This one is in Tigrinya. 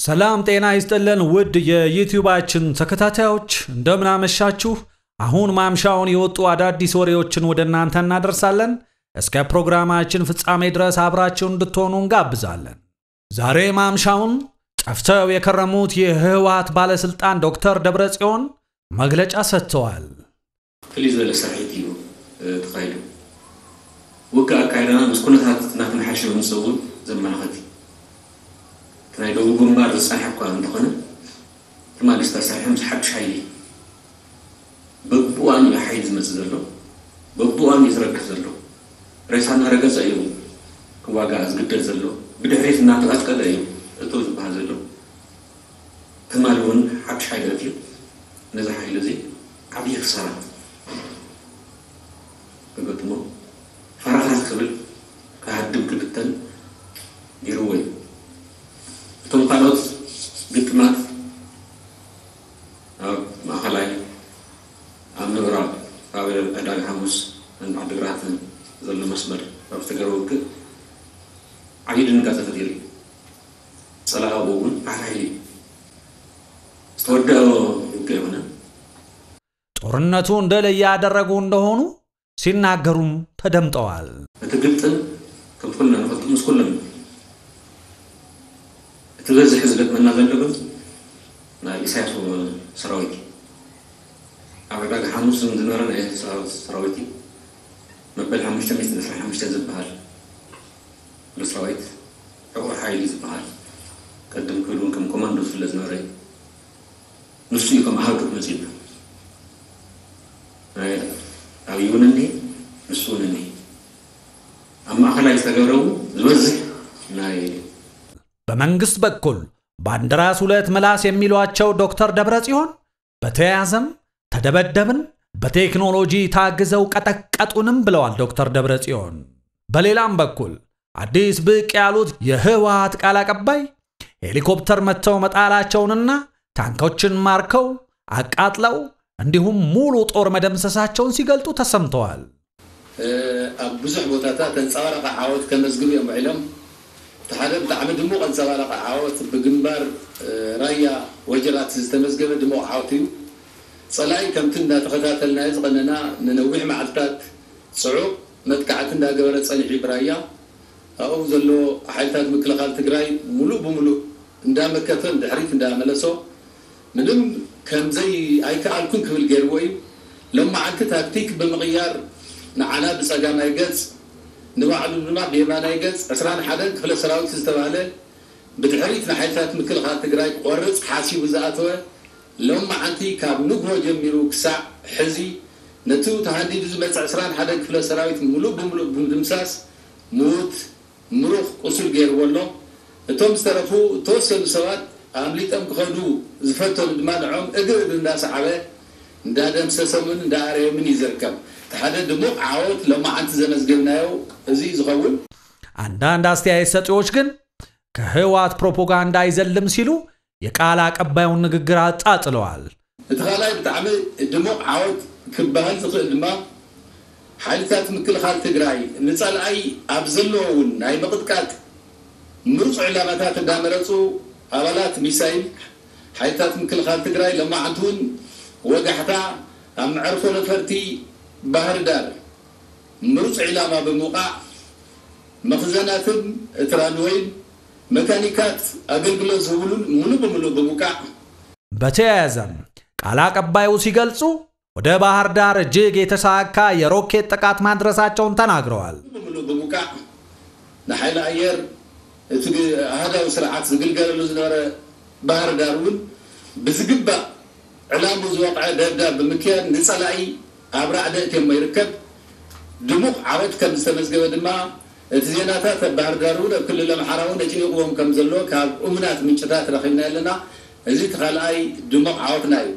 ሰላም ጤና ይስጥልን ውድ የዩቲዩባችን ተከታታዮች፣ እንደምን አመሻችሁ። አሁን ማምሻውን የወጡ አዳዲስ ወሬዎችን ወደ እናንተ እናደርሳለን። እስከ ፕሮግራማችን ፍጻሜ ድረስ አብራችሁ እንድትሆኑ እንጋብዛለን። ዛሬ ማምሻውን ጠፍተው የከረሙት የህወሓት ባለስልጣን ዶክተር ደብረጽዮን መግለጫ ሰጥተዋል። ፍልይ ዝበለ ስርሒት እዩ ተኻይዱ። ውግእ ኣካይዳና ምስ ኩነታት እናተመሓሸ ምምፅኡ እውን ዘመላኽት እዩ። እቲ ናይ ደቡብ ግንባር ዝፀንሐ እኳ እንተኾነ ትማሊ ዝተሰርሐ ምስ ሓዱሽ ሓይሊ በብእዋኑ እዩ ሓይሊ ዝመፅእ ዘሎ፣ በብእዋኑ እዩ ዝረግፍ ዘሎ። ሬሳ እናረገፀ እዩ ክዋጋእ ዝግደድ ዘሎ፣ ብድሕሪት እናተቐጥቀጠ እዩ እቶ ዝበሃል ዘሎ። ትማሊ እውን ሓዱሽ ሓይሊ ኣትዩ ነዚ ሓይሊ እዚ ዓብዪ ክሳራ ክገጥሞ ፈራኽራኽ ክብል ክሃድም ክብተን ገይርዎ እዩ። እቶም ካልኦት ግጥማት ኣብ ማእኸላይ ኣብ ምዕራብ ኣብ ዕዳጋ ሓሙስ ዓዲግራት ዘሎ መስመር ኣብ ዝተገበረ ውግእ ዓብዪ ድንጋፀ ፈጢሩ እዩ። ፀላኢ እውን ሓይሊ ዝተወደኦ ውግእ ኣይኮነን። ጦርነቱ እንደ ላይ ያደረጉ እንደሆኑ ሲናገሩም ተደምጠዋል። እቲ ግጥም ከም ኩልና ንፈልጦ ምስ ኩሎም እቲ ዝበዝሕ ዝገጥመና ዘሎ ግን ናይ ኢሳያስ ሰራዊት እዩ። ኣብ ዕዳጋ ሓሙስ ዝነበረ ናይ ሰራዊት እዩ። መበል ሓሙሽተ ሚእትን ዕስራን ሓሙሽተን ዝበሃል ሰራዊት ዕቑር ሓይሊ ዝበሃል ቀድም ክብል እውን ከም ኮማንዶ ዝፍለጥ ዝነበረ እዩ። ንሱ እዩ ከም ኣሃዱ ክመፅእ ይብል። ናይ ኣብይ እውን እኒሄ፣ ንሱ እውን እኒሄ። ኣብ ማእኸላይ ዝተገብረ እውን ዝበዝሕ ናይ በመንግስት በኩል ባንዲራስ ሁለት ምላስ የሚሏቸው ዶክተር ደብረጽዮን በተያያዘም ተደበደብን በቴክኖሎጂ ታግዘው ቀጠቀጡንም ብለዋል ዶክተር ደብረጽዮን። በሌላም በኩል አዲስ ብቅ ያሉት የህወሓት ቃል አቀባይ ሄሊኮፕተር መጥተው መጣላቸውንና ታንኮችን ማርከው አቃጥለው እንዲሁም ሙሉ ጦር መደምሰሳቸውን ሲገልጡ ተሰምተዋል። ኣብ ብዙሕ ቦታታት ተንጸባራቒ ዓወት ከመዝግቡ እዮም ውዒሎም። እቲ ሓደ ብጣዕሚ ድሙቕ ኣንጸባራቒ ዓወት ብግንባር ራያ ወጀራት ዝተመዝገበ ድሙቕ ዓወት እዩ። ጸላኢ ከምቲ እንዳተኸታተልናዮ ዝቐነና ንነዊሕ መዓልታት ጽዑቕ መጥቃዕቲ እንዳገበረ ጸኒሑ ብራያ ኣብኡ ዘሎ ሓይልታት ምክልኻል ትግራይ ሙሉእ ብሙሉእ እንዳመከተ ንድሕሪት እንዳመለሶ ምንም ከምዘይ ኣይከኣልኩን ክብል ገይርዎ እዩ። ሎማዓንቲ ታክቲክ ብምቕያር ንዓና ብፀጋማይ ገፅ ንባዕሉ ድማ ብየማናይ ገፅ ዕስራን ሓደን ክፍለ ሰራዊት ዝተባህለ ብድሕሪት ንሓይልታት ምክልኻል ትግራይ ክቆርፅ ሓሲቡ ዝኣተወ ሎማዓንቲ ካብ ንግሆ ጀሚሩ ክሳዕ ሕዚ ነቲ ተሃንዲዱ ዝመፀ ዕስራን ሓደን ክፍለ ሰራዊት ሙሉእ ብሙሉእ ብምድምሳስ ሙት ምሩኽ ቁሱል ገይርዎ ኣሎ። እቶም ዝተረፉ እተወሰኑ ሰባት ኣምሊጦም ክኸዱ ዝፈተኑ ድማ ንዖም እግሪ እግሪ እንዳሰዓበ እንዳደምሰሶምን እንዳኣረዮምን እዩ ዝርከብ። እቲ ሓደ ድሙቕ ዓወት ሎማዓንቲ ዘመዝገብናዮ እዚ እዩ ዝኸውን። አንዳንድ አስተያየት ሰጪዎች ግን ከህወሓት ፕሮፓጋንዳ አይዘልም ሲሉ የቃል አቀባዩን ንግግር አጣጥለዋል። እቲ ካልኣይ ብጣዕሚ ድሙቕ ዓወት ክበሃል ዝኽእል ድማ ሓይልታት ምክልኻል ትግራይ ንፀላኢ ኣብ ዘለዎ እውን ናይ ምቕጥቃጥ ምርፁ ዕላማታት እንዳመረፁ ኣባላት ሚሳይል ሓይልታት ምክልኻል ትግራይ ሎማዓንቲ እውን ወጋሕታ ኣብ መዕርፎ ነፈርቲ ባህር ዳር ምሩፅ ዒላማ ብምውቃዕ መኽዘናትን እቲ ራንወይን መካኒካት ኣገልግሎት ዝህብሉን ሙሉእ ብምሉእ ብምውቃዕ በተያያዘም ቃል አቀባዩ ሲገልጹ ወደ ባህር ዳር እጅግ የተሳካ የሮኬት ጥቃት ማድረሳቸውን ተናግረዋል። ሙሉእ ብምሉእ ብምውቃዕ ንሓይሊ ኣየር እቲ ኣሃዳዊ ስርዓት ዝግልገለሉ ዝነበረ ባህር ዳር እውን ብዝግባእ ዕላሙ ዝወቕዐ ደብዳብ ብምክያድ ንፀላኢ ኣብ ራዕዲ እትየሞ ይርከብ። ድሙቕ ዓወት ከም ዝተመዝገበ ድማ እቲ ዜናታት ኣብ ባህር ዳር እውን ኣብ ክልል ኣምሓራ እውን ኣጭኒቕዎም ከም ዘሎ ካብ እሙናት ምንጭታት ረኺብና ኣለና። እዚ እቲ ካልኣይ ድሙቕ ዓወትና እዩ።